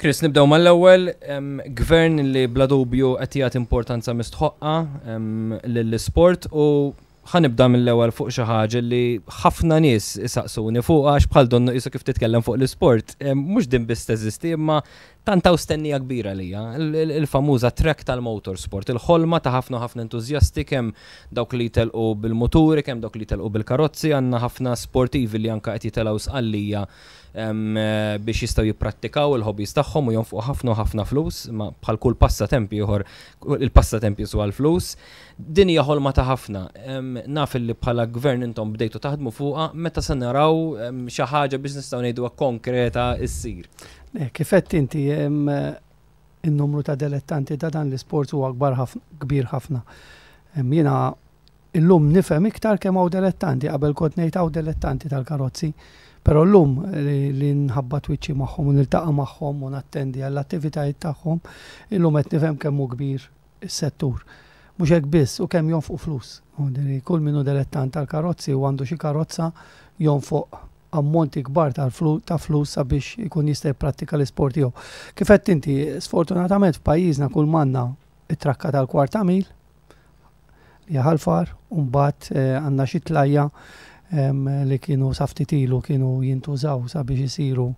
Chris, nibdew mal-ewwel, gvern li bla dubju qed jagħti importanza mistħoqqa lill-isport u ħa nibda mill-ewwel fuq xi ħaġa li ħafna nies isaqsuni fuqha għax bħal donnu qisu kif titkellem fuq l-isport, mhux din biss teżisti imma tant hawn stennija kbira għalija, il-famuża track tal-motorsport, il-ħolma ta' ħafna u ħafna entużjasti kemm dawk li jtelqu bil-muturi, kemm dawk li jtelqu bil-karozzi, għandna ħafna sportivi li anke qed jitelgħu Sqallija biex jistgħu jipprattikaw il-hobbies tagħhom u jonfqu ħafna u ħafna flus, ma bħal kull passatemp ieħor il-passatemp jiswa l-flus. Din hija ħolma ta' ħafna. Naf li bħala gvern intom bdejtu taħdmu fuqha, meta se naraw xi ħaġa biex nistgħu ngħiduha konkreta ssir? Kif għedt inti, in-numru ta' delettanti ta' dan l-isport huwa kbar kbir ħafna. Jiena Illum nifhem iktar kemm hawn delettanti, qabel kont ngħid hawn delettanti tal-karozzi, però llum li nħabbat wiċċi magħhom u niltaqa' magħhom u nattendi għall-attivitajiet tagħhom, illum qed nifhem kemm hu kbir is-settur. Mhux hekk biss, u kemm jonfqu flus. Kull min hu delettant tal-karozzi u għandu xi karozza jonfoq ammonti kbar ta' flus sabiex ikun jista' jipprattika l-isport tiegħu. Kif għedt inti, sfortunatament f'pajjiżna kull m'għandna it-trakka tal-kwart ta' mil, li hija Ħal Far, u mbagħad għandna xi tlajja li kienu sa ftit ilu kienu jintużaw sabiex isiru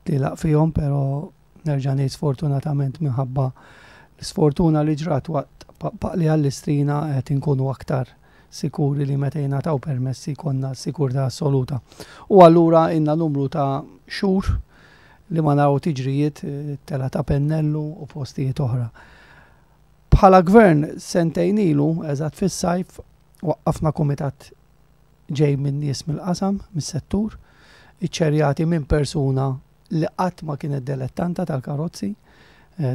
tlielaq fihom, però nerġa' ngħid sfortunatament minħabba l-isfortuna li ġrat waqt paqli għall-Istrina qed inkunu aktar sikuri li meta jingħataw permessi jkollna s-sikurtà assoluta. U allura ilna numru ta' xhur li ma naraw tiġrijiet telgħa ta' Pennellu u postijiet oħra. Bħala Gvern sentejn ilu, eżatt fis-sajf, waqqafna kumitat ġej minn nies mill-qasam, mis-settur, iċċerjati minn persuna li qatt ma kienet delettanta tal-karozzi,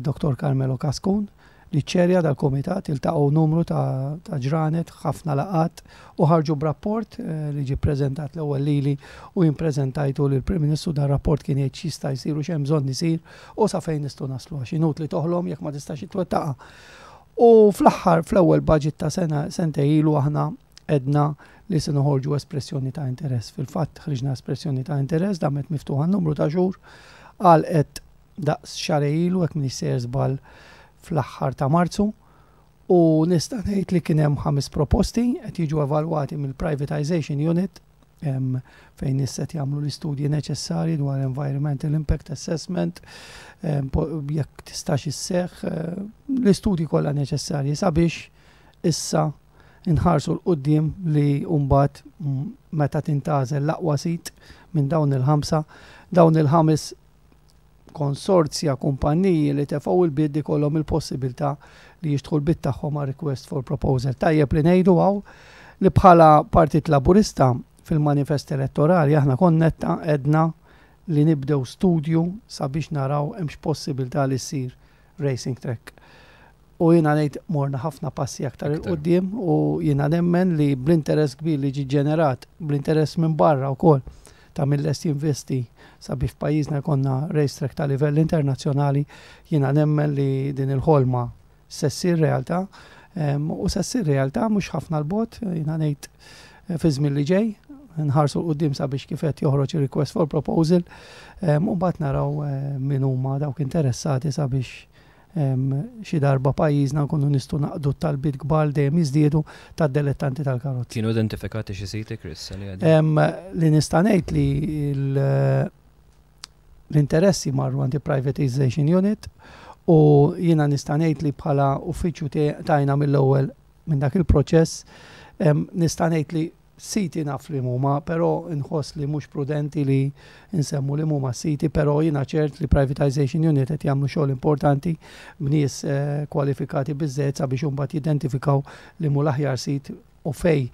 Dottor Carmelo Cascun, li ċċerja dal-kumitat, iltaqgħu numru ta' ġranet, ħafna laqgħat u ħarġu b'rapport li ġie ppreżentat l-ewwel lili u jien ppreżentajtu lill-Prim Ministru. Dan rapport kien jgħid x'jista' jsir u x'hemm bżonn isir u sa fejn nistgħu naslu għax inutli toħlom jekk ma tistax itwettaqha. U fl-aħħar fl-ewwel budget ta' sena sentej ilu aħna għedna li se noħorġu espressjoni ta' interess. Fil-fatt ħriġna espressjoni ta' interess damet miftuħa numru ta' xhur għalqet daqs xarej ilu hekk m'iniex sejjer żball fl-aħħar ta' Marzu u nista' ngħid li kien hemm ħames proposti qed jiġu evalwati mill-Privatization Unit fejn nies qed jagħmlu l-istudji neċessarji dwar environmental impact assessment, jekk tistax isseħħ, l-istudji kollha neċessarji sabiex issa nħarsu 'l quddiem li mbagħad meta tintgħażel l-aqwa sit minn dawn il-ħamsa, dawn il-ħames konsorzja kumpanniji li tefgħu il-bid ikollhom il-possibilità li jixtħu l-bid tagħhom għal request for proposal. Tajjeb li ngħidu hawn li bħala Partit Laburista fil-manifest elettorali aħna konnetta għedna li nibdew studju sabiex naraw hemmx possibilità li ssir racing track. U jiena ngħid morna ħafna passi aktar 'il quddiem u jiena nemmen li bl-interess kbir li ġie ġenerat, bl-interess minn barra wkoll ta' min lest jinvesti sabiex f'pajjiżna jkollna racetrack ta' livell internazzjonali, jiena nemmen li din il-ħolma se ssir realtà u se ssir realtà mhux ħafna 'l bogħod, jiena ngħid fiż-żmien li ġej, nħarsu 'l quddiem sabiex kif qed joħroġ ir-request for proposal u mbagħad naraw min huma dawk interessati sabiex xi darba pajjiżna nkunu nistgħu naqdu t-talbiet kbar li dejjem jiżdiedu tad-delettanti tal-karozzi. Kienu identifikati xi siti, Chris, li għaddi? Li nista' ngħid li l-interessi marru għand il-Privatization Unit u jiena nista' ngħid li bħala uffiċċju tajna mill-ewwel minn dak il-proċess nista' ngħid li Siti naf li huma, però nħoss li mhux prudenti li nsemmu li huma s-siti, però jiena ċert li Privatisation Unit qed jagħmlu xogħol importanti b'nies kwalifikati biżżejjed sabiex imbagħad jidentifikaw li mhu l-aħjar sit u fejn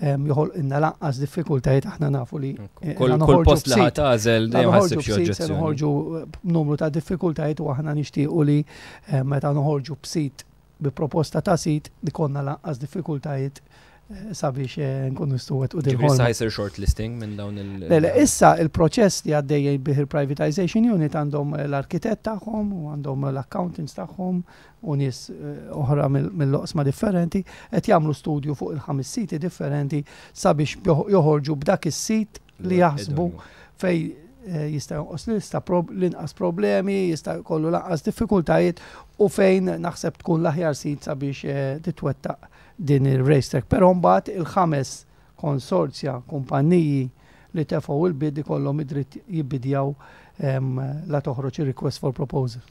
joħolqilna l-anqas diffikultajiet aħna nafu li kull post li ħa tagħżel dejjem ħa ssib xi oġġezzjoni. Noħorġu b'numru ta' diffikultajiet u aħna nixtiequ li meta noħorġu b'sit bi proposta ta' sit li konna lanqas diffikultajiet eh, sabiex eh, nkunu nistgħu wettqu din. Ġifieri issa jsir shortlisting minn dawn il- Le, le, issa il-proċess li għaddejjin bih il-privatization unit għandhom l-arkitett tagħhom u għandhom l-accountants tagħhom u nies eh, oħra mill-oqsma differenti qed jagħmlu studju fuq il-ħames siti differenti sabiex joħorġu b'dak is-sit li jaħsbu fej jista' jonqos l-inqas problemi, jista' jkollu l-anqas diffikultajiet u fejn naħseb tkun l-aħjar sit sabiex titwettaq din il-racetrack. Però mbagħad il-ħames konsorzja kumpanniji li tefgħu il-bid ikollhom id-dritt jibbidjaw la toħroġ il-request for proposal.